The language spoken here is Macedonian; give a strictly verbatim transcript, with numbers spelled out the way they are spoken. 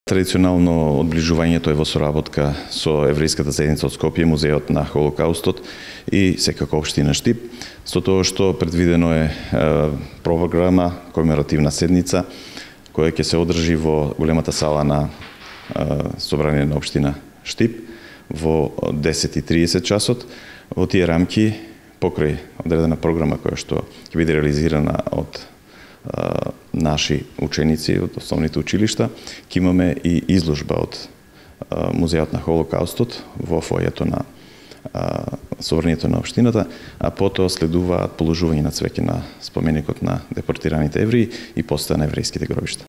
Традиционално одближувањето е во соработка со еврејската заедница од Скопје, Музеот на Холокаустот и секако општина Штип, со тоа што предвидено е, е програма, комеморативна седница, која ќе се одржи во големата сала на е, собрание на општина Штип во десет и триесет часот. Во тие рамки, покрај одредена програма која што ќе биде реализирана од наши ученици од основните училишта, ќе имаме и изложба од Музеот на Холокаустот во фојето на собранието на општината, а потоа следуваат положување на цвеќе на споменикот на депортираните евреи и постоја на еврејските гробишта.